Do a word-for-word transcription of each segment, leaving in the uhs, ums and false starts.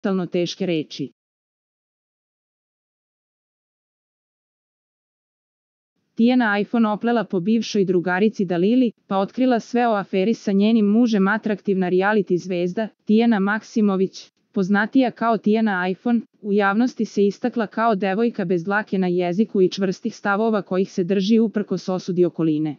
brutalno teške reči. Tijana iPhone oplela po bivšoj drugarici Dalili, pa otkrila sve o aferi sa njenim mužem. Atraktivna reality zvezda, Tijana Maksimović, poznatija kao Tijana iPhone, u javnosti se istakla kao devojka bez dlake na jeziku i čvrstih stavova kojih se drži uprkos osudi okoline.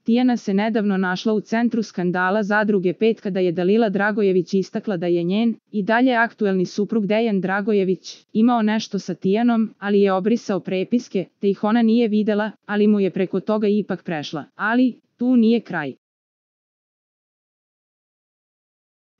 Tijana se nedavno našla u centru skandala Zadruge pet kada je Dalila Dragojević istakla da je njen, i dalje aktuelni suprug Dejan Dragojević, imao nešto sa Tijanom, ali je obrisao prepiske, te ih ona nije videla, ali mu je preko toga ipak prešla. Ali, tu nije kraj.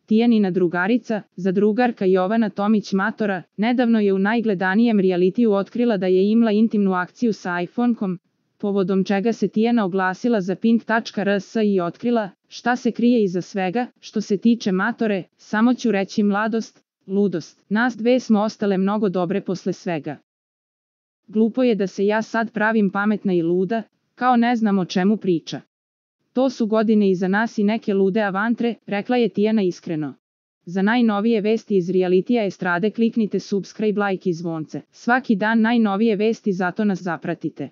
Tijanina drugarica, zadrugarka Jovana Tomić Matora, nedavno je u najgledanijem realitiju otkrila da je imala intimnu akciju sa iPhone-kom, povodom čega se Tijana oglasila za pink tačka r s i otkrila šta se krije iza svega. Što se tiče Matore, samo ću reći mladost, ludost. Nas dve smo ostale mnogo dobre posle svega. Glupo je da se ja sad pravim pametna i luda, kao ne znam o čemu priča. To su godine iza nas i neke lude avantre, rekla je Tijana iskreno. Za najnovije vesti iz realitija estrade kliknite subscribe, like i zvonce. Svaki dan najnovije vesti, zato nas zapratite.